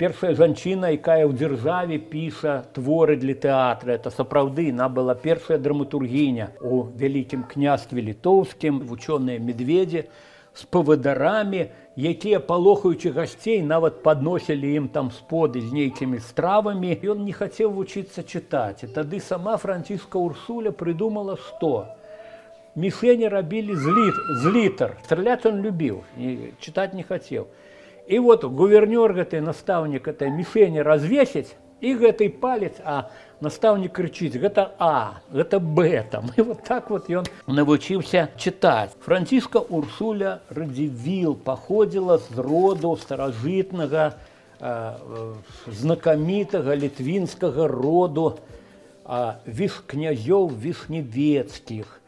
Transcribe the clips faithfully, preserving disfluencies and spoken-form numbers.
Першая жанчына, якая ў дзяржаве піша творы для тэатра, это сапраўды, она была першая драматургіня у вялікім княстве літоўскім, вучоныя медведзі з павадарамі, якія, палохаючы гасцей, нават падносілі ім там споды з нейкімі стравамі. Ён не хацеў вучыцца чытаць. І тады сама Франціска Урсуля прыдумала, што мішені рабілі з, літ, з літар. Страляць он любіў, чытаць не хацеў. І вот гувернёр гэты, настаўнік этой мішені развесіць, і гэты палец, а настаўнік крычыць, гэта А, гэта Б там. І вот так вот ён навучыўся чытаць. Франціска Урсуля Радзівіл паходзіла з роду старажытнага, э, знакамітага літвінскага роду э, віш князёў вішневецкіх.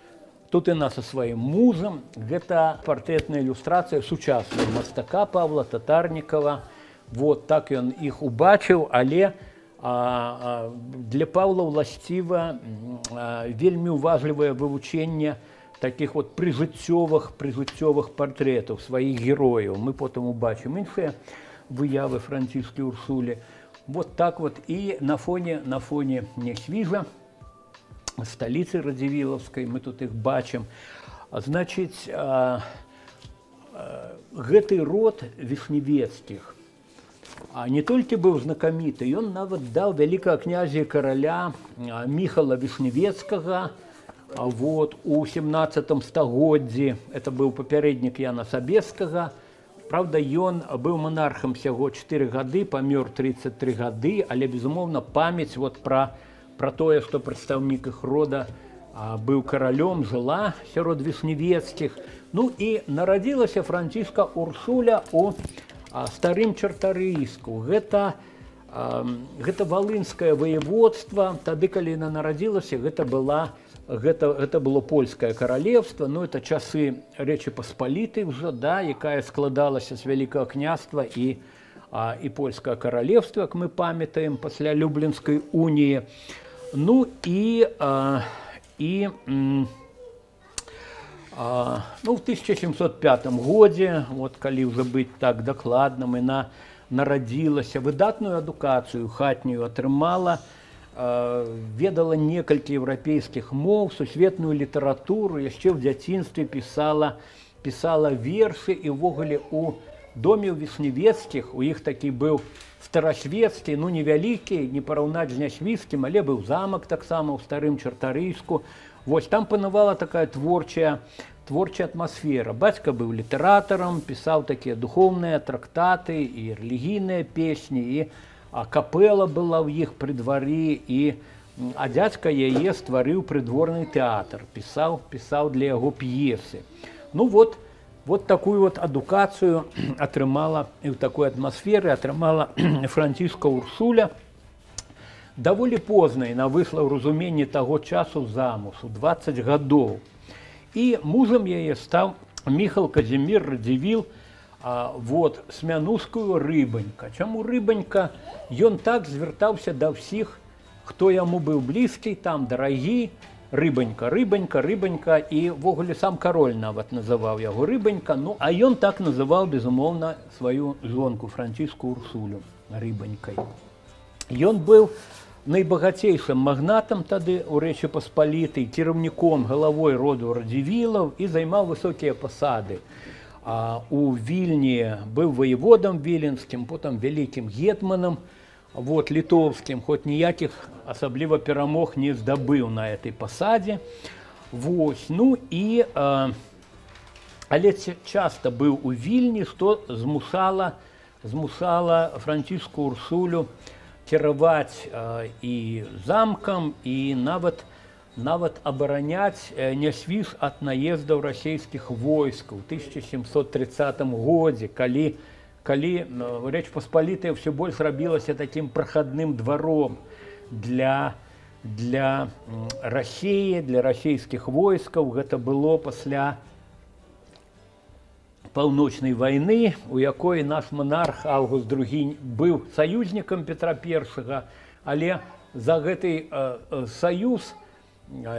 Тут і нас са сваім музам. Гэта партрэтная ілюстрацыя сучаснага мастака Павла Татарнікава. Вот так ён іх убачыў, але а, а, для Павла ўласціва а, вельмі уважлівае вывучэнне такіх вот прыжыццёвых прыжыццёвых партрэтаў сваіх герояў. Мы потым убачым іншыя выявы Франціскі Урсулі. Вот так вот і на фоне на фоне Нясвіжа, столицы Радзівілаўскай, мы тут их бачым. Значыць, а, а, гэты род вішневецкіх а не толькі быў знакаміты, ён нават даў вялікага князя і караля Міхала Вішневецкага вот, у сямнаццатым стагоддзі. Это быў папярэднік Яна Сабескага. Правда, ён быў манархам всяго чатыры гады, памёр трыццаць тры гады, але, безумоўна, памяць вот пра Про тое, што прадстаўнік іх рода а, быў каралём, жыла сярод вішневецкіх. Ну і нарадзілася Франціска Урсуля у а, старым Чартарыйску. Гэта, а, гэта валынскае воеводства. Тады, калі яна нарадзілася, гэта, была, гэта, гэта было польскае каралевства. Ну, это часы Рэчы Паспалітай ўжо, да, якая складалася з вялікага княства і, а, і польскае каралевства, як мы памятаем, пасля Люблінскай уніі. Ну і, а, і а, ну, в тысяча семьсот пятым годзе, вот, калі ўжо быць так дакладным, яна нарадзілася, выдатную адукацыю хатнюю атрымала, а, ведала некалькі еўрапейскіх моў, сусветную літаратуру, яшчэ ў дзяцінстве пісала, пісала вершы, і ўвогуле у доме ў Вішневецкіх, у іх такі быў старасвецкі, ну невялікі, не параўнаць з Нясвіжскім, але быў замак таксама ў старым Чартарыйску. Вось там панавала такая творчая, творчая атмасфера. Бацька быў літаратарам, пісаў такія духоўныя трактаты і рэлігійныя песні, і а капэла была ў іх пры двары, і а дзядзька яе стварыў прыдворны тэатр, пісаў, пісаў для яго п'есы. Ну вот, Вот такую вот адукацыю атрымала, і ў такой атмасферы атрымала Франціска Урсуля. Даволі позна яна выйшла ў разуменні таго часу замуж, у дваццаць гадоў. І мужам яе стаў Міхал Казімір Радзівіл, а, вот, Смянускую Рыбанька. Чаму Рыбанька? Ён так звяртаўся да ўсіх, хто яму быў блізкі, там дарагі, Рыбанька, Рыбанька, Рыбанька, і ввогуле сам кароль нават называў яго Рыбанька. Ну, а ён так называў, безумоўна, сваю жонку Франціску Урсулю Рыбанькай. Ён быў найбагацейшым магнатам тады у Рэчы Паспалітай, кіраўніком, галавой роду Радзівілаў і займаў высокія пасады. А у Вільні быў ваеводам віленскім, потым вялікім гетманам, вот, літоўскім, хоць ніякіх асабліва перамог не здабыў на этой пасадзе. Вось, ну і, а, але часта быў у Вільні, што змусала, змусала Франціску Урсулю кіраваць а, і замкам, і нават, нават абараняць Нясвіж ад наездаў расійскіх войскаў у тысяча сямсот трыццатым годзе, калі калі Рэч Паспалітая ўсё больш рабілася такім прахадным дваром для, для Расіі, для расійскіх войскаў. Гэта было пасля паўночнай вайны, у якой наш манарх Аўгуст другі быў саюзнікам Петра першага, але за гэты э, саюз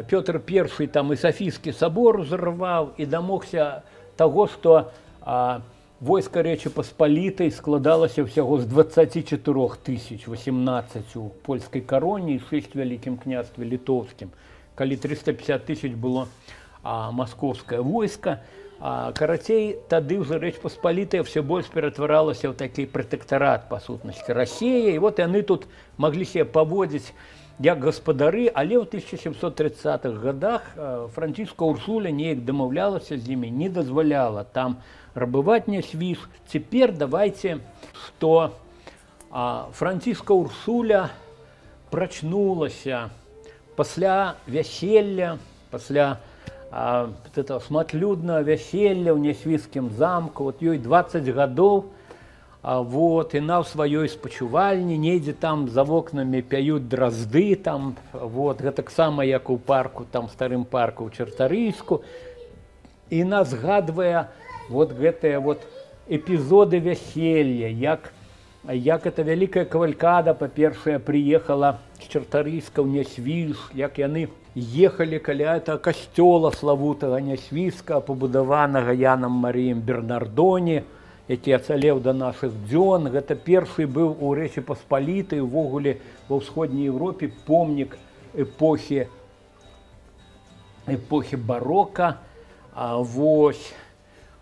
Пётр першы там і Сафійскі сабор узарваў і дамогся таго, што э, войска Рэчы Паспалітай складалася ўсяго з дваццаці чатырох тысяч восемнадцаць у польскай кароне і шэсць вялікім княстве літоўскім, калі трыста пятьдесят тысяч было а, маскоўскае войска. А, карацей, тады ўжо Рэч Паспалітая все больш ператваралася ў такі пратэктарат, па сутнасці, Расія, і вот яны тут маглі себе паводзіць як гаспадары, але ў тысяча сямсот тридцатых годах Францішка Урсуля неяк дамаўлялася з імі, не дазваляла там рабаваць нясвіж. Цяпер давайте, што а, Францішка Урсуля прачнулася пасля вяселля, пасля а, этого шматлюднага вяселля ў нясвіжскім замку, вот ёй дваццаць гадоў, а, вот, і на ў сваёй спачувальні, недзе там за вокнамі пяюць дразды, там, вот, гэтаксама як у парку, там старым парку ў Чартарыйску, і нас згадвае вот гэтыя вот эпізоды вяселля, як, як эта вялікая кавалькада, па-першае, прыехала з Чартарыйска ў Нясвіж, як яны ехалі каля этого касцёла славутага Нясвіжска, пабудаванага Янам Марыем Бернардоне, які ацалеў да нашых дзён. Гэта першы быў у Рэчы Паспалітай, увогуле ва ўсходняй Еўропе помнік эпохі, эпохі барока. А, вось.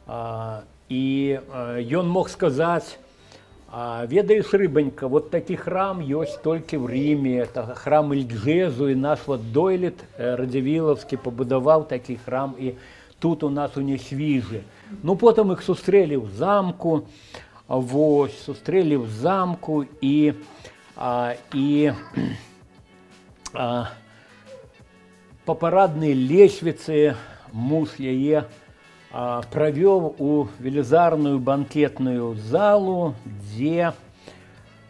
А, і а, ён мог сказаць, а, ведаеш, Рыбанька, вот такі храм ёсць толькі ў Ріме, это храм Ільджезу, і наш вот Дойлід Радзівілаўскі пабудаваў такі храм і тут у нас у Нясвіжы. Ну, потым іх сустрэлі ў замку, вось, сустрэлі ў замку, і, а, і а, па параднай лесвіцы муж яе а, правёў у велізарную банкетную залу, дзе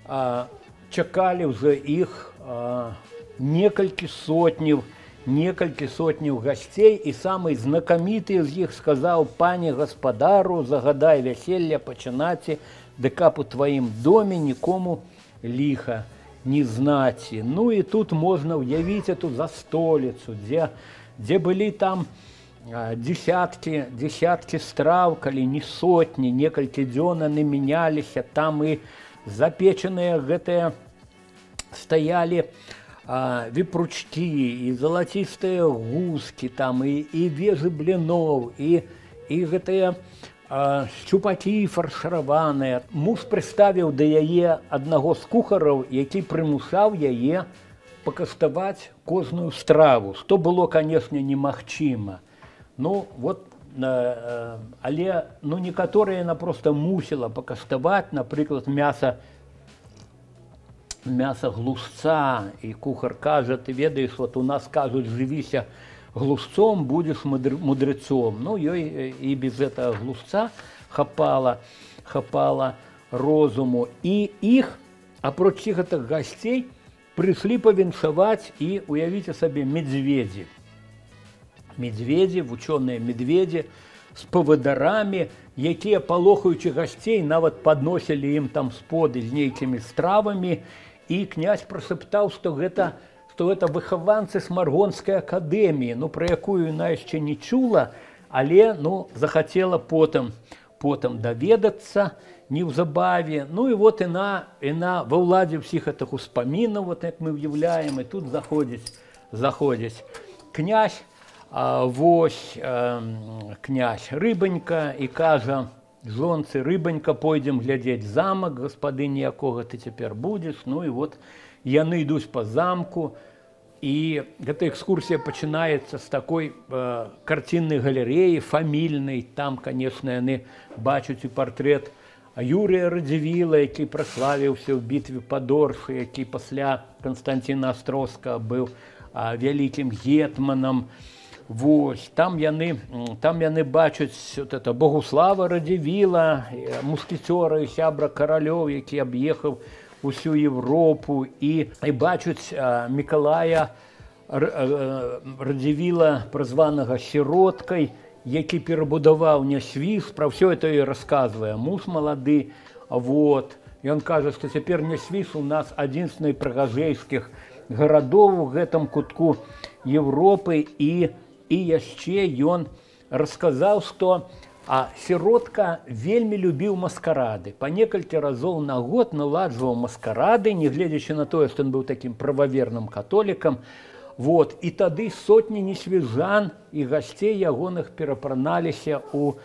а, чакалі ўжо іх а, некалькі сотняў, некалькі сотняў гасцей, і самы знакаміты з іх сказаў: пане гаспадару, загадай вяселля пачынаце, ды каб у тваім доме нікому ліха не знаці. Ну і тут можна ўявіць эту застоліцу, дзе, дзе былі там а, десяткі, десяткі страў, калі не сотні, некалькі дзён яны мяняліся, там і запечаныя гэтыя стаялі А, віпручкі, і залацістыя гускі, там, і, і вежы бліноў, і, і гэтыя а, шчупакі фаршыраваныя. Муж прыставіў да яе аднаго з кухараў, які прымушаў яе пакаставаць кожную страву, што было, канешне, немагчыма. Ну, вот, а, але ну, некаторыя яна проста мусіла пакаставаць, напрыклад, мяса, мяса глушца, і кухар кажа: ты ведаеш, вот у нас кажуць, жывіся глушцом, будзеш мудрецом. Ну, ёй і без этого глушца хапала, хапала розуму. І іх, апроч гэтых гасцей, прыйшлі павіншаваць і, уявіце сабе, медведзі. Медведзі, вучоныя медведзі з павадарамі, якія, палохаючы гасцей, нават падносілі ім там споды з нейкімі стравамі. І князь прашептаў, што гэта, што гэта выхаванцы Смаргонскай акадэміі, ну, пра якую яна яшчэ не чула, але ну, захацела потым, потым даведацца неўзабаве. Ну і вот яна, яна ва ўладзе ўсіх гэтых успамінаў, вот як мы ўяўляем, і тут заходзіць, заходзіць князь, а, вось а, князь Рыбанька, і кажа жонцы: Рыбанька, пойдзем глядзець замак, гаспадыні якога ты цяпер будзеш. Ну і вот яны ідуць па замку, і гэта экскурсія пачынаецца з такой э, карціннай галерэі, фамільнай. Там, канешне, яны бачаць і партрэт Юрія Радзівіла, які праславіўся ў бітве пад Оршай, які пасля Канстанціна Астроўскага быў а, вялікім гетманам. Вось, там яны, там яны бачаць вот это Богуслава Радзівіла, мускецёра і сябра каралёў, які аб'ехаў усю Европу, і, і бачаць а, Мікалая Радзівіла, празванага сіроткай, які перабудаваў Нясвіж. Пра ўсё это і расказвае муж малады. Вот. Ён кажа, што цяпер Нясвіж у нас адзін з найпрыгажэйскіх гарадоў у гэтым кутку Европы. І І яшчэ ён расказаў, што А сиротка вельмі любіў маскарады. Па некалькі разоў на год наладжваў маскарады, нягледзячы на тое, што ён быў такім прававерным католікам. Вот. І тады сотні несвіжан і гасцей ягоных перапраналіся ў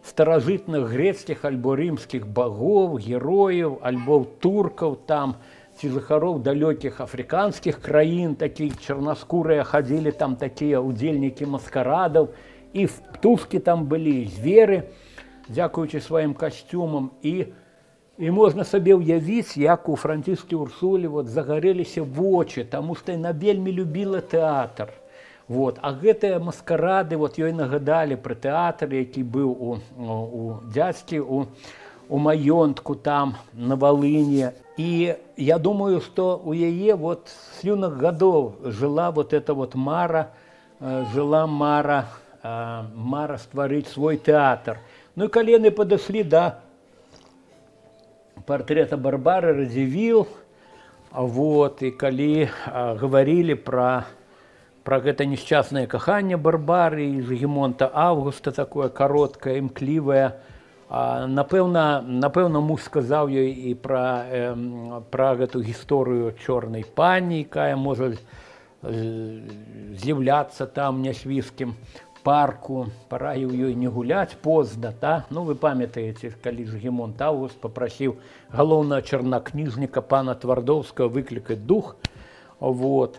старажытных грецкіх альбо рымскіх багоў, герояў, альбо туркаў там, ці жыхароў далёкіх афрыканскіх краін, такія чарнаскурыя хадзілі там такія ўдзельнікі маскарадаў, і птушкі там былі, зверы, дзякуючы сваім касцюмам. І, і можна сабе ўявіць, як у Франціскі Урсулі вот, загарэліся вочы, таму што яна вельмі любіла тэатр. Вот. А гэтыя маскарады вот, ёй нагадалі пра тэатр, які быў у, у дзядзькі, у, у маёнтку там, на Валыні. І я думаю, што у яе вот, з юных гадоў жыла вот эта вот мара, жыла мара, мара стварыць свой тэатр. Ну і калі яны падышлі да партрэта Барбары Радзівіл, вот, і калі гаварылі пра Пра гэта несчастнае каханне Барбары і Зігмонта Аўгуста, такое кароткае, імклівае. Напэўна, напэўна, муж сказаў ёй і пра, э, пра гэту гісторыю чорнай пані, якая можа з'яўляцца там у нясвіжскім парку. Параіў ёй не гуляць позна. Та? Ну, вы памятаеце, калі Зігмонт Аўгуст папрасіў галоўнага чарнакніжніка пана Твардоўскага выклікаць дух. Вот.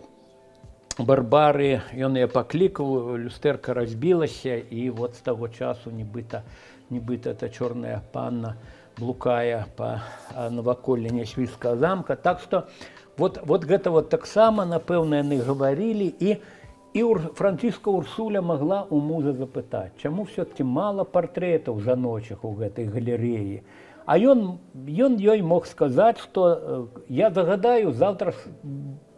Барбары, ён яе паклікаў, люстэрка разбілася, і вот з таго часу нібыта, нібыта эта чорная панна блукае па наваколлі нясвіжскага замка. Так што вот, вот гэта вот таксама, напэўна, яны гаварылі, і, і Францішка Урсуля магла ў мужа запытаць, чаму ўсё-такі мала партрэтаў жаночых у гэтай галерэі. А ён, ён ёй мог сказаць, што я загадаю, заўтра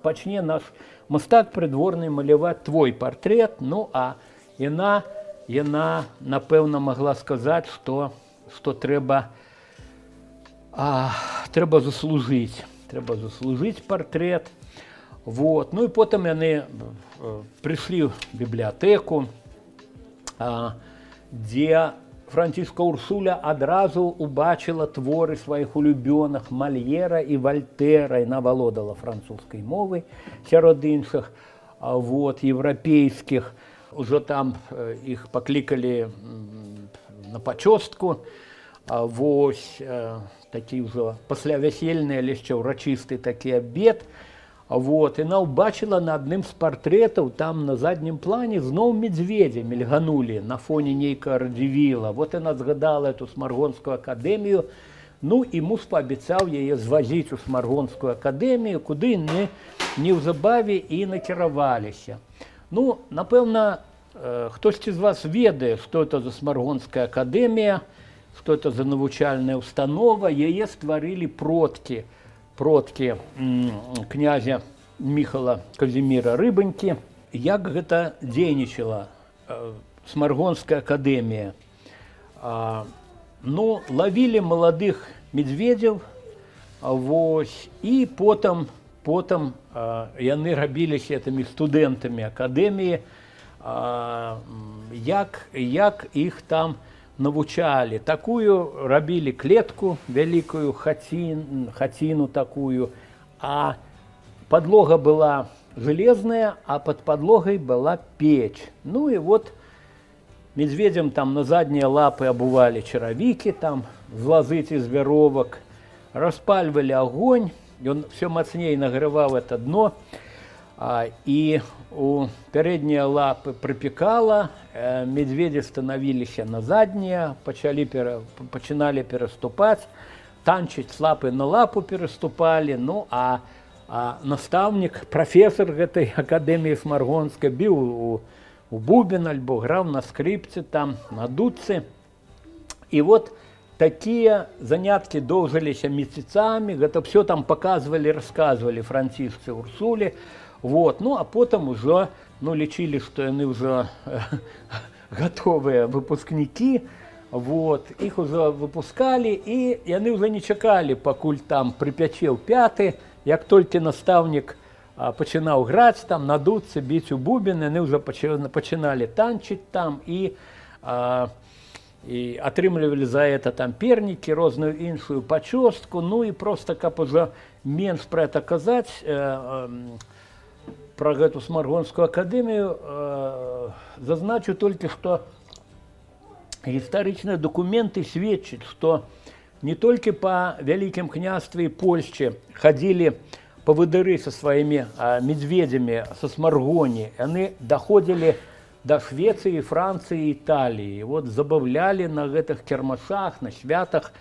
пачне наш мастак прыдворны маляваць твой партрэт. Ну, а яна, яна напэўна, магла сказаць, што, што трэба, а, трэба заслужыць, трэба заслужыць партрэт. Вот. Ну і потым яны прыйшлі ў бібліятэку, а, дзе Францішка Урсуля адразу убачыла творы сваіх улюбёных Мальера і Вальтэра. Яна валодала французскай мовай сярод іншых, вот, еўрапейскіх. Ужо там іх паклікалі на пачостку. Вось такі ўжо паслявясельны, але яшчэ ўрачысты такі абед. Вот, яна ўбачыла на адным з партрэтаў, там на заднім плане зноў медзведзя мільганулі на фоне нейкага Радзівіла. Вот яна згадала эту Смаргонскую акадэмію. Ну і муж паабяцаў яе звазіць у Смаргонскую акадэмію, куды не, неўзабаве і накіраваліся. Ну, напэўна, хтосьці з вас ведае, што это за Смаргонская акадэмія, што это за навучальная установа. Яе стварылі продкі. продкі князя Міхала Казіміра Рыбанькі. Як гэта дзейнічала Смаргонская акадэмія? Ну, лавілі маладых медзведзяў, вось, і потым, потым яны рабіліся этымі студэнтамі акадэміі, як, як іх там навучалі. Такую рабілі клетку, вялікую хаціну, хаціну такую, а подлога была железная, а под подлогой была печь. Ну и вот медведям там на задние лапы обували чаровики, там з лозы из веровок, распаливали огонь, и он все мощнее нагревал это дно, а, и у передние лапы припекало, э, медведи становились на задние, почали, пере, починали переступать, танчить с лапы на лапу переступали, ну а, а наставник, профессор этой академии Смаргонской бил у, у бубен, альбо грал на скрипце, там, на дудце. И вот такие занятки доўжыліся месяцами, это все там показывали, рассказывали Францішцы Урсулі. Вот. Ну, а потом уже, ну, лечили, что они уже готовые выпускники, вот, их уже выпускали, и они уже не чекали, покуль там припячил пяты, як только наставник а, починал грать, там, надуться, бить у бубен, они уже починали танчить там, и а, і атрымлівалі за это там пернікі, розную іншую пачостку. Ну і просто каб ужо менш пра гэта казаць, э, э, пра гэту Смаргонскую акадэмію, э, зазначу толькі, што гістарычныя дакументы сведчаць, што не толькі па Вялікім княстве і Польшчы хадзілі павадыры са сваімі медведзямі са Смаргоні, яны даходзілі да Швецыі, Францыі, Італіі. Вот забаўлялі на гэтых кірмашах, на святах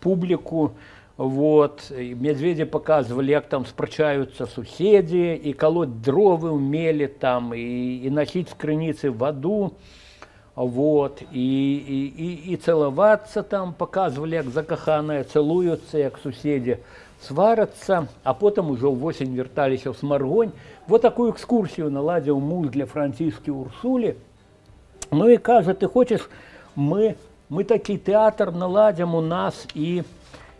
публіку. Вот. Медведзі паказвалі, як там спрачаюцца суседзі, і калоць дровы ўмелі там, і, і насіць з крыніцы ваду. Вот. І, і, і, і цалавацца там, паказвалі, як закаханыя цалуюцца, як суседзі сварацца, а потым ужо ўвосень вярталіся ў Смаргонь. Вот такую экскурсію наладзіў муж для Франціскі Урсулі. Ну і кажа, ты хочаш, мы, мы такі тэатр наладзім у нас і,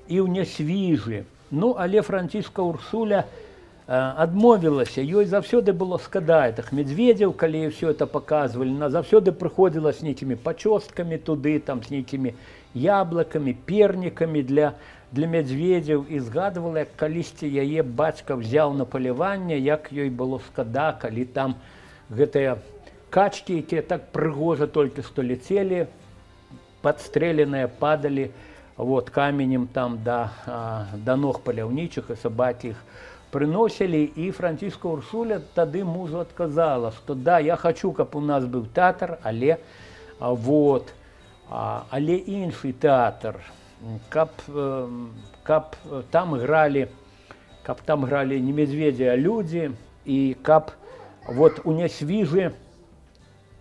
і ў Нясвіжы. Ну, але Францішка Урсуля э, адмовілася. Ёй заўсёды было скада гэтых медведзяў, калі ўсё это паказвалі. Она заўсёды прыходзіла з нейкімі пачосткамі туды, там, з нейкімі яблыкамі, пернікамі для для медведзяў, і згадвала, як калісьці яе бацька взяў на паляванне, як ёй было скада, калі там гэтыя качкі, якія так прыгожа толькі што ляцелі, падстрэленыя, падалі вот, каменем там да, да ног паляўнічых, і сабакі іх прыносілі. І Францішка Урсуля тады мужу адказала, што да, я хачу, каб у нас быў тэатр, але, вот, але іншы тэатр. Каб, каб там гралі, каб там гралі не медведзі, а людзі, і каб вот у Нясвіжы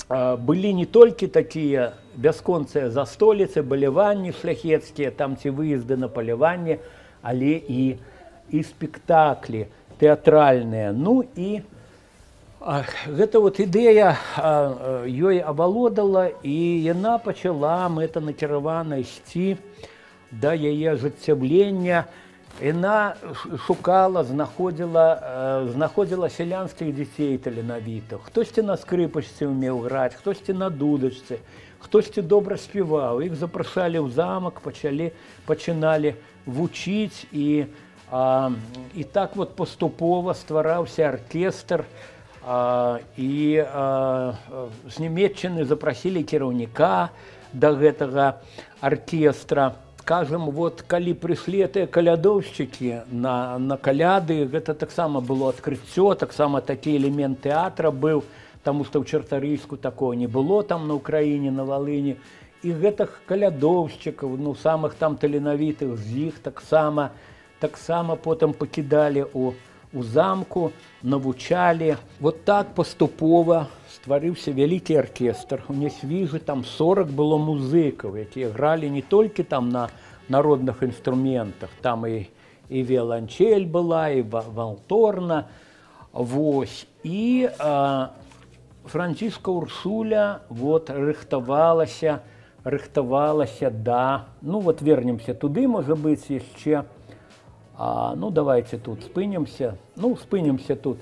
былі не толькі такія бясконцыя застоліцы, баляванні шляхецкія, там ці выезды на паляванне, але і, і спектаклі тэатральныя. Ну і гэта вот ідэя ёй авалодала, і яна пачала мэтанакіравана ісці да яе ажыццяўлення. Яна шукала, знаходзіла, знаходзіла сялянскіх дзяцей таленавітых. Хтосьці на скрыпачцы ўмеў граць, хтосьці на дудачцы, хтосьці добра спяваў. Іх запрашалі ў замак, пачалі, пачыналі вучыць, і, а, і так вот паступова ствараўся аркестр. А, і а, з Нямецчыны запрасілі кіраўніка да гэтага аркестра. Скажем, вот калі прыйшлі тыя калядоўшчыкі на, на каляды, гэта таксама было адкрыццё, таксама такі элемент тэатра быў, таму што ў Чартарыйску такого не было там на Украіне, на Валыні. І гэтых калядоўшчыкаў, ну, самых там таленавітых з іх таксама, таксама потым пакідалі у, у замку, навучалі. Вот так паступова стварыўся вялікі аркестр. У Нясвіжы там сорок было музыкаў, якія гралі не толькі там на народных інструментах, там і, і віяланчэль была, і валторна. Вось. І а, Францішка Урсуля вот, рыхтавалася, рыхтавалася да... Ну вот вернемся туды, можа быць, яшчэ. А, ну давайте тут спынемся. Ну, спынемся тут.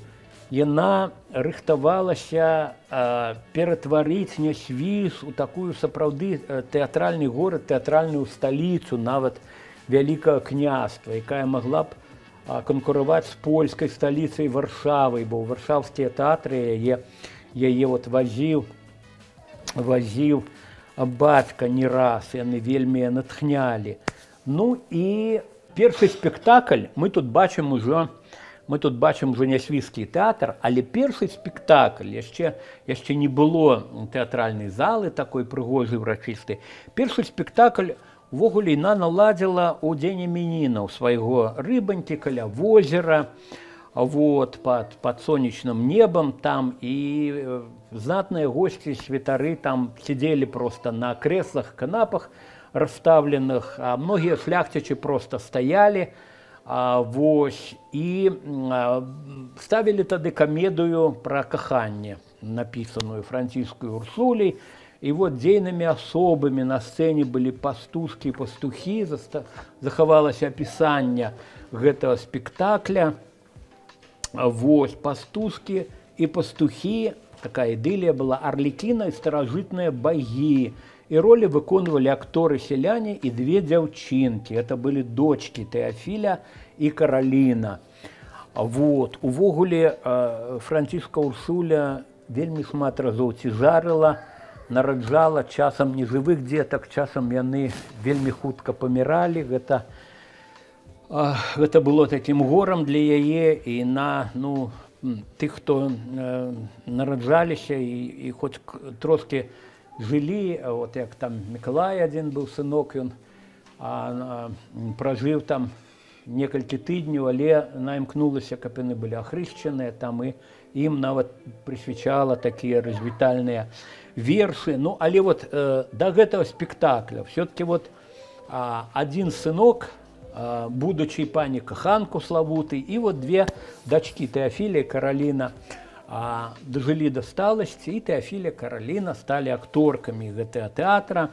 Яна рыхтавалася а, ператварыць Нясвіж у такую сапраўды тэатральны горад, тэатральную сталіцу, нават Вялікага княства, якая магла б а, канкураваць з польскай сталіцай Варшавай, бо варшаўскія тэатры яе, яе вот вазіў, вазіў бацька не раз, яны вельмі натхнялі. Ну і першы спектакль мы тут бачым ужо, Мы тут бачым ужо Нясвіжскі тэатр, але першы спектакль, яшчэ, яшчэ не было тэатральнай залы такой прыгожай, урачыстай. Першы спектакль увогуле яна наладзіла ў дзень імянінаў свайго рыбанькі каля возера, вот, пад, пад сонечным небам там, і знатныя госці, святары там сидзелі просто на крэслах, канапах расставленых, а многія шляхцічы просто стаялі. А, вось, і а, ставілі тады камедыю пра каханне, напісаную Францішкай Урсуляй. І вот дзейнымі асобамі на сцэне былі пастушкі і пастухі, захавалася апісанне гэтага спектакля. Вось, пастушкі і пастухі, такая ідылія была, арлікіна і старажытныя багі. І И роли выконывали акторы-селяне и две девчинки. Это были дочки Теофиля и Каролина. Вот. Увогуле Франциска Урсуля вельмі шмат разоў цяжарыла, нараджала часам нежывых дзетак, часам яны вельмі хутка паміралі. Гэта, гэта было такім горам для яе і на ну, тых, хто нараджаліся і, і хоць трошки жылі, вот як там Миколай адзін быў сынок, ён а, а, пражыў там некалькі тыдняў, але она імкнулася, каб яны былі ахрышчаныя, там і ім нават прысвячала такія развітальныя вершы. Ну, але вот э, до гэтага спектакля все-таки вот а, один сынок, а, будучи пані каханку славуты, і вот две дачкі Теофіля і Кароліна а, дажылі да сталасці, і Теофіля і Кароліна сталі акторкамі гэтага тэатра.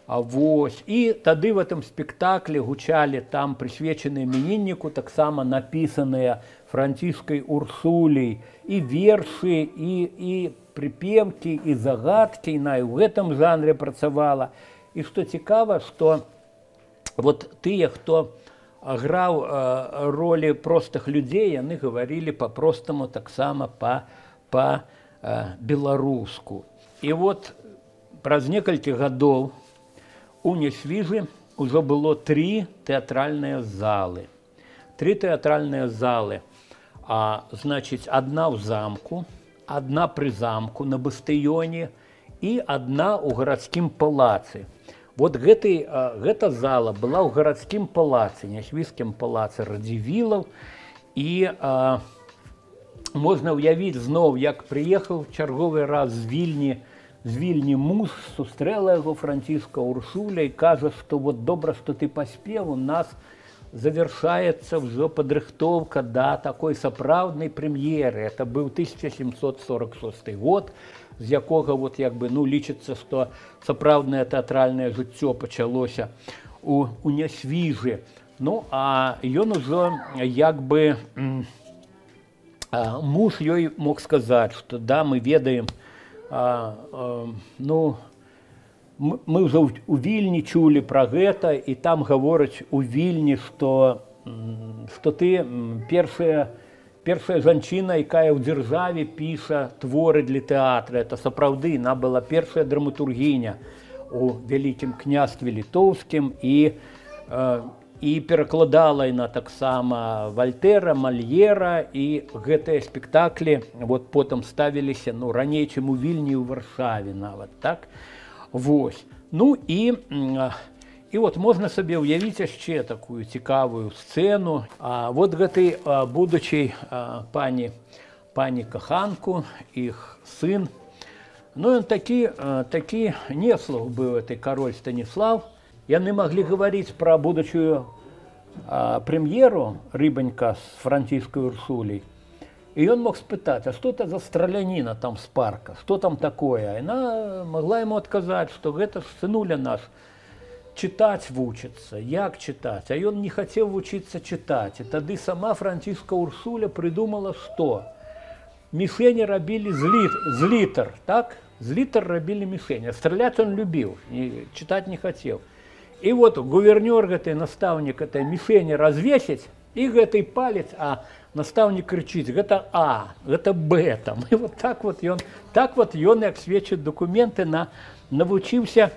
А вось. І тады в этом спектаклі гучалі там прысвечаныя іменінніку таксама напісаныя Францискай Урсулей і вершы, і, і припевкі, і загадкі, і на, і ў гэтым жанре працавала. І што цікава, што вот тыя, хто граў э, ролі простых людзей, яны гаварылі па-простаму таксама па-беларуску. І вот праз некалькі гадоў у Несвіжы ўжо было тры тэатральныя залы. Тры тэатральныя залы. А, значыць, адна ў замку, адна пры замку на бастыёне і адна ў гарадскім палацы. Вот гэты, а, гэта зала была ў гарадскім палацы, Нясвіжскім палацы Радзівілаў. І а, можна ўявіць зноў, як прыехаў чарговы раз з Вільні, з Вільні муж, сустрэла яго Франциска Урсуля і кажа, што вот добра, што ты паспеў, у нас завершаецца ўжо падрыхтоўка да такой сапраўднай прэм'еры. Это быў тысяча сямсот сорок шосты год, з якога вот як бы ну лічыцца, што сапраўднае тэатральнае жыццё пачалося у, у Нясвіжы. Ну а ён ужо як бы а, муж ёй мог сказаць, што да, мы ведаем, а, а, ну мы ўжо у Вільні чулі пра гэта, і там гавораць у Вільні, што, што ты першая, першая жанчына, якая ў дзяржаве піша творы для тэатра. Это сапраўды, она была першая драматургіня у Вялікім княстве літоўскім, і, э, і перакладала яна таксама Вальтэра, Мальера, і гэтыя спектаклі вот потым ставіліся ну, раней, чым у Вільні і ў Варшаве нават, так? Вось. Ну і, і от можна сабе ўявіць яшчэ такую цікавую сцэну. А, вот гэтай будучай пані, пані каханку, іх сын. Ну ён такі, такі неслух быў, этой кароль Станіслав. Яны маглі гаварыць пра будучую прэм'еру Рыбанька з Франциской Урсулей. И он мог спытать, а что это за страляніна там с парка, что там такое? И она могла ему отказать, что это сынуля наш читать вучится, як читать. А он не хотел вучиться читать. И тогда сама Франциска Урсуля придумала, что мишени робили з, лит, з литр, так? З литр робили мишени. А стрелять он любил, и читать не хотел. И вот гувернер, гэты, наставник этой мишени развесить, и гэты палец, а наставник кричит, это А, это Б. Там. И вот так вот он, так вот он, як сведчат документы, на, навучился,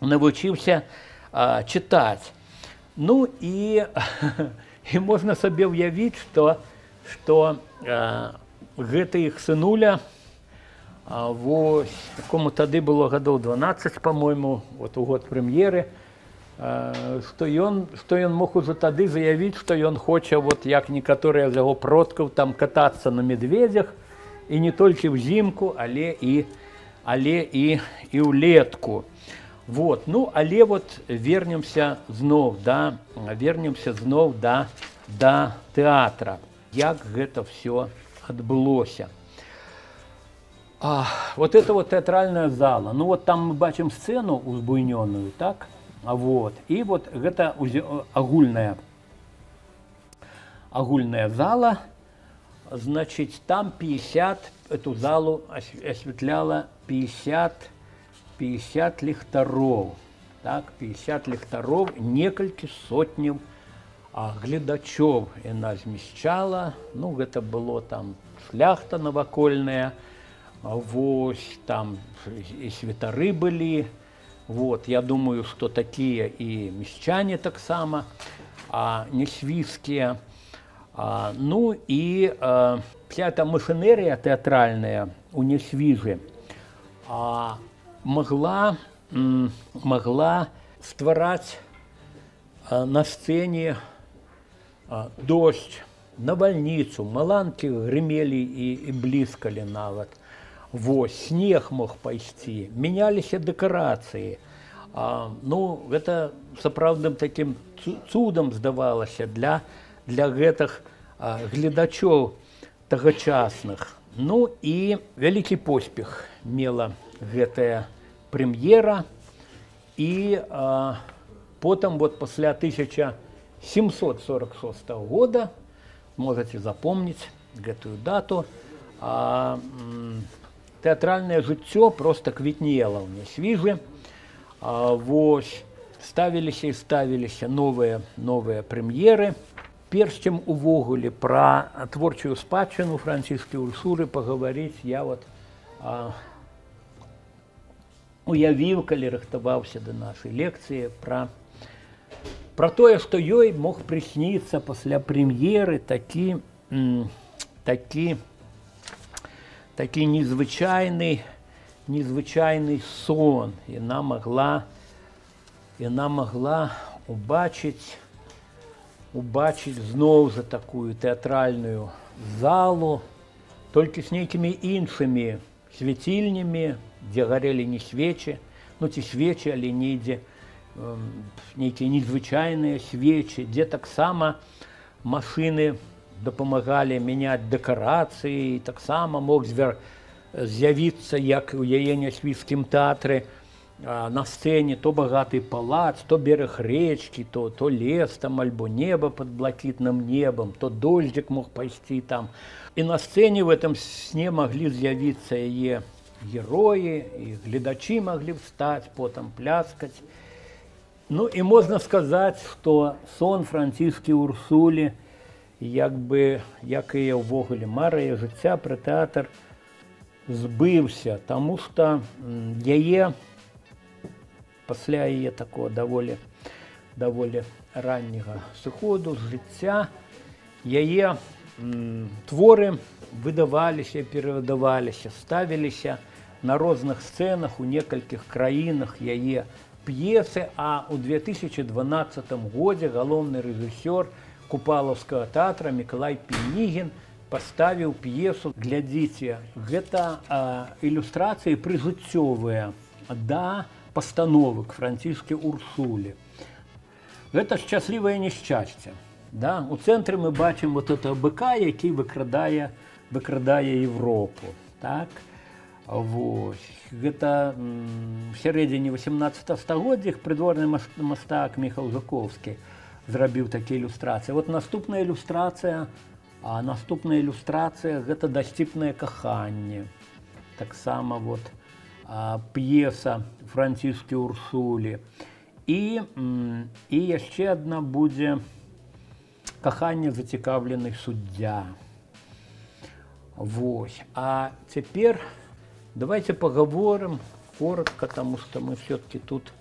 навучился а, читать. Ну и, и можно себе уявить, что, что а, гэта их сынуля, а, вот, якому тады было годов дванаццаць, по-моему, вот у год премьеры, што ён, што ён мог уже тады заявіць, што ён хоча, вот, як некаторыя з яго продкаў, там катацца на медведях, і не толькі ўзімку, але і, але і, і ўлетку. Вот. Ну, але вот вернемся зноў, да, вернемся зноў да, да тэатра. Як гэта все адбылося. А, вот это вот тэатральная зала. Ну, вот там мы бачым сцену узбуйнёную, так? А вот. І вот гэта агульная, агульная зала, значит, там пятьдесят, эту залу осветляла пятьдесят пятьдесят ліхтароў. Так, пятьдесят ліхтароў, некалькі сотняў а, гледачоў яна змяшчала. Ну, гэта было там шляхта навакольная, вось там і святары былі. Вот, я думаю, што такія і мясцяне таксама, а несвійскія. А, ну і а, вся эта машинерія тэатральная у Несвіжы а, могла, м, могла ствараць а, на сцэне а, дождь, навальніцу, маланкі грымелі і, і бліскалі нават. Вось, снег мог пайсці, мяняліся дэкарацыі. А, ну, гэта сапраўдным такім цудам здавалася для, для гэтых а, гледачоў тагачасных. Ну і вялікі поспех мела гэтая прэм'ера. І а, потым вот пасля тысяча семьсот сорок шестого года, можете запомніць гэтую дату, а, тэатральнае жыццё проста квітнела ў Несвіжы. А, вось, ставіліся і ставіліся новыя, новыя прэм'еры. Перш чым увогуле пра творчую спадчыну Францішкі Урсулы пагаварыць, я вот а, уявіў, калі рыхтаваўся да нашай лекцыі, пра, пра тое, што ёй мог прысніцца пасля прэм'еры такі, м, такі, такі незвычайны, незвычайны сон. Яна могла, яна могла убачыць, убачыць зноў за такую тэатральную залу, толькі з нейкімі іншымі свяцільнямі, дзе гарэлі не свечы, ну ці свечы, але недзе э, нейкія незвычайныя свечы, дзе таксама машыны дапамагалі мяняць дэкарацыі, таксама мог звяр... з'явіцца, як у яе Несвіжскім тэатры, а, на сцэне то багаты палац, то бераг рэчкі, то, то лес там, альбо неба пад блакітным небам, то дождзік мог пайсці там. І на сцэне в этом сне маглі з'явіцца яе героі, і гледачы маглі встаць, потым пляскаць. Ну і можна сказаць, што сон Францішкі Урсулі, як бы, як і ўвогуле мара яе жыцця пра тэатр, збыўся, таму што яе пасля яе такого даволі, даволі ранняга сыходу з жыцця, яе м, творы выдаваліся, перавыдаваліся, ставіліся на розных сцэнах у некалькіх краінах яе п'есы, а ў две тысячи дванаццатым годзе галоўны рэжысёр Купалаўскага тэатра Мікалай Пінігін паставіў п'есу. Глядзіце, гэта а, ілюстрацыі прыжыццёвыя да пастановы к Францішкі Урсулі. Гэта шчаслівае няшчасце. Да? У цэнтры мы бачым вот этого быка, які выкрадае, выкрадае Европу. Так? Вось. Гэта м, в сярэдзіне васямнаццатага стагоддзя прыдворны мастак Міхал Жуковскі зрабіў такія ілюстрацыі. Вот наступная ілюстрацыя, а наступная ілюстрацыя гэта дасціпнае каханне. Таксама вот а, п'еса Францішкі Урсулі. І, м, і яшчэ адна будзе каханне зацікаўлены суддзя. Вось. А цяпер давайте поговорим коротко, потому что мы все-таки тут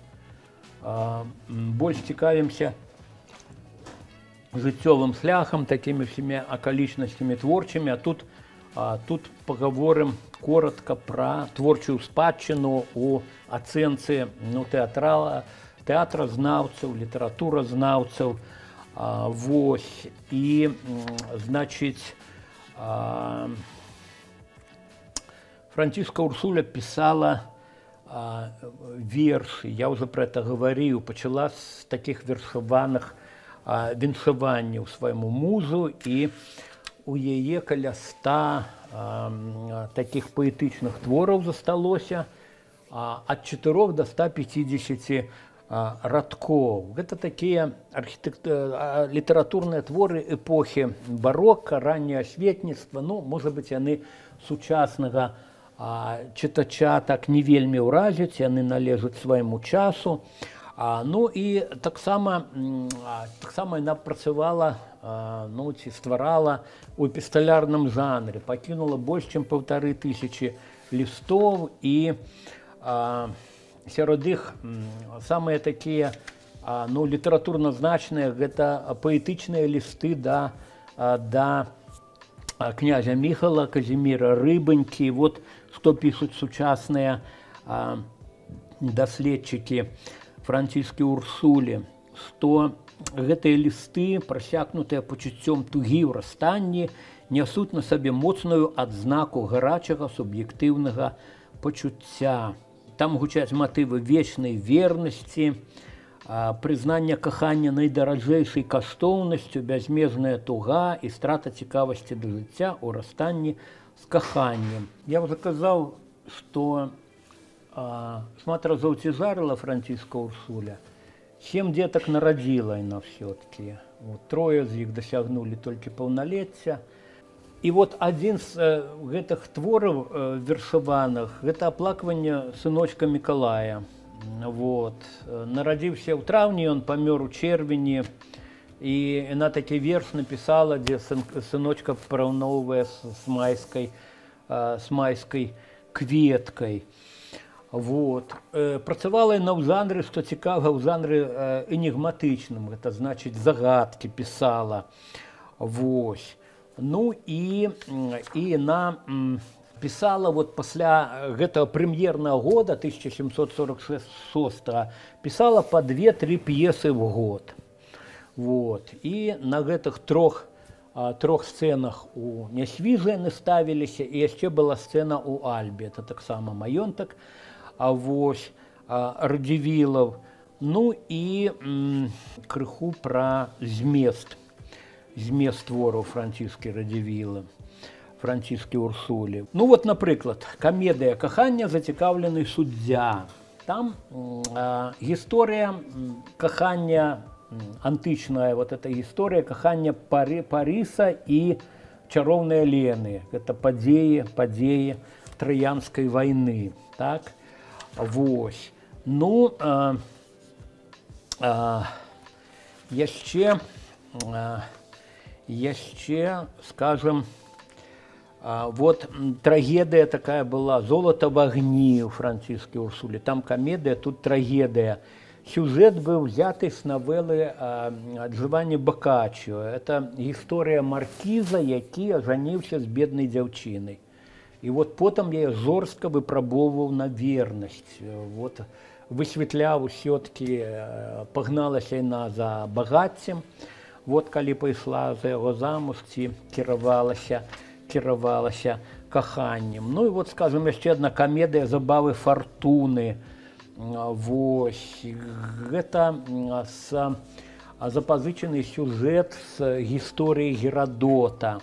а, больше цікавимся жыццёвым шляхам, такими всеми околичностями творчими, а тут, а, тут поговорим коротко про творчую спадчыну у ацэнцы ну, тэатрала, тэатразнаўцаў, літаратуразнаўцаў. А, вось. І, значыць, а, Францішка Урсуля писала а, верши, я уже про это говорил, почала с таких вершаваных а, віншаванняў свайму мужу, і у яе каля ста а, таких паэтычных твораў засталося а, ад чатырох до ста пятидесяти а, радкоў. Гэта такія архітект... літаратурныя творы эпохі барока, ранняе асветніцтва, ну, можа быць, яны сучаснага чытача так не вельмі ўразіць, яны належаць свайму часу. А, ну і таксама таксама яна працавала, ну, ці стварала у эпісталярным жанры, пакінула больш чым паўтары тысячы лістоў, і а, сярод іх самыя такія, ну, літаратурна значныя, гэта паэтычныя лісты да, да князя Міхала, Казіміра Рыбанькі. Вот што пішуць сучасныя даследчыкі Франціскі Урсулі, што гэтыя лісты, прасякнутыя пачуццём тугі ў расстанні, нясуць на сабе моцную адзнаку гарачага суб'ектыўнага пачуцця. Там гучаць матывы вечнай вернасці, прызнання кахання найдаражэйшай каштоўнасцю, бязмежная туга і страта цікавасці да жыцця ў расстанні з каханнем. Я ўжо казаў, што шмат разоў цяжарыла Францішка Урсуля. Сем дзетак нарадзіла яна ўсё-такі. Вот, трое з іх дасягнулі толькі паўналецця. І вот адзін з гэтых твораў вершаваных — гэта аплакванне сыночка Мікалая. Вот. Нарадзіўся ў траўні, ён памёр у чэрвені, і яна такі верш напісала, дзе сыночка параўноўвае з майскай, з майскай кветкай. Вот. Працавала яна ў жанры, што цікава, ў жанры энігматычным, гэта значыць загадкі пісала. Вось. Ну і, і яна пісала вот пасля гэтага прэм'ернага года тысяча сямсот сорок шостага, пісала па две-тры п'есы в год. Вот. І на гэтых трох, трох сцэнах у Нясвіжы яны ставіліся, і яшчэ была сцэна ў Альбе, это таксама маёнтак, а вось Радзівілаў. Ну і м, крыху пра змест, змест твораў Франціскі Радзівіла, Франціскі Урсулі. Ну вот, напрыклад, камедыя «Кахання. Зацікаўлены суддзя». Там э, гісторыя кахання антычная, вот эта гісторыя кахання Пары, Паріса і чароўнай Лены. Гэта падзеі, падзеі Траянскай вайны. Так? Вось. Ну, э, э, яшчэ, э, яшчэ, скажем, э, вот трагедыя такая была «Золото в огні» у Франціскі Урсулі. Там камедыя, тут трагедыя. Сюжет быў взяты з навелы Джованні Боккаччо. Это гісторыя маркіза, які ажаніўся з беднай дзяўчынай. І вот потым я жорстка выпрабоўваў на вернасць. Вот, высветляў усё-таки, пагналася яна за багаццем. Вот калі пайшла за яго замуж, ці кіравалася, кіравалася каханнем. Ну і вот, скажем, яшчэ адна камедыя «Забавы фартуны». Вось. Гэта с, запазычаны сюжэт з гісторыі Герадота.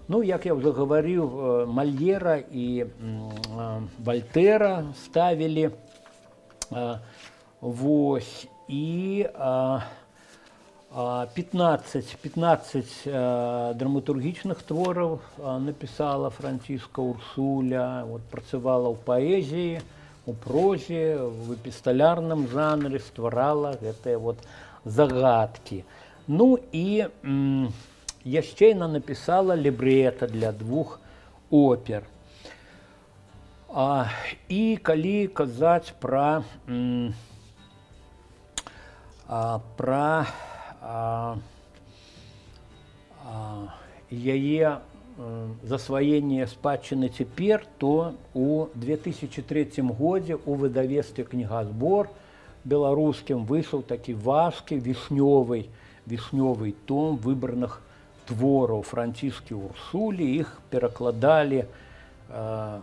Ну, як я ўжо гаварыў, Мальера і Вальтэра ставілі. Вось. І пятнаццаць, пятнаццаць драматургічных твораў напісала Францішка Урсуля. Вот, працавала ў паэзіі, у прозе, в эпісталярным жанры, стварала гэтыя вот загадкі. Ну і м, яшчэ яна напісала лібрэта для двух опер. А, і калі казаць пра, м, а, пра а, а, яе засваенне спадчыны цяпер, то у две тысячи третьем годзе у выдавецтве «Кнігазбор» беларускім выйшаў такі важкі вішнёвы, вішнёвы том выбраных твораў Франціскі Урсулі. Іх перакладалі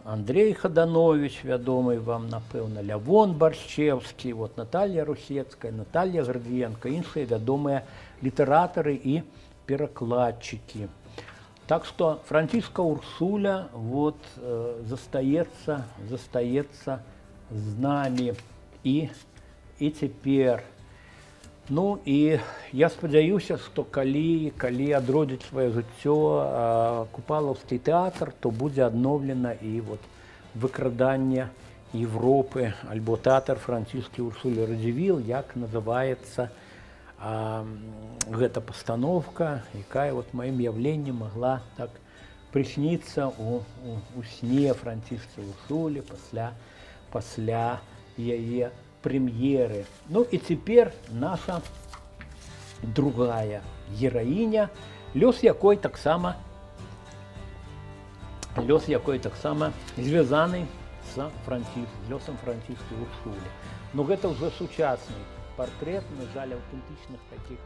Андрей Хаданович, вядомы вам, напэўна, Лявон Баршчеўскі, вот, Наталья Русецкая, Наталья Градвіенка, іншыя вядомыя літаратары і перакладчыкі. Так что Францішка Урсуля вот, э, застаецца, застаецца з намі і, і цяпер. Ну і я спадзяюся, што калі, калі адродзіць сваё жыццё э, Купалаўскі тэатр, то будзе адноўлена і вот выкрадання Европы, альбо тэатр французскі Урсулі Радзівіл, як называецца а, гэта пастановка, якая вот маім явленнем могла так прысниться у, у, у сне Францішкі Урсулі пасля, пасля яе прэм'еры. Ну і цяпер наша другая гераіня, лёс якой таксама лёс якой таксама звязаны з Франціз, лёсам Францішкі Урсулі. Ну гэта ўжо сучасны партрэт, на жаль, аўтэнтычных такіх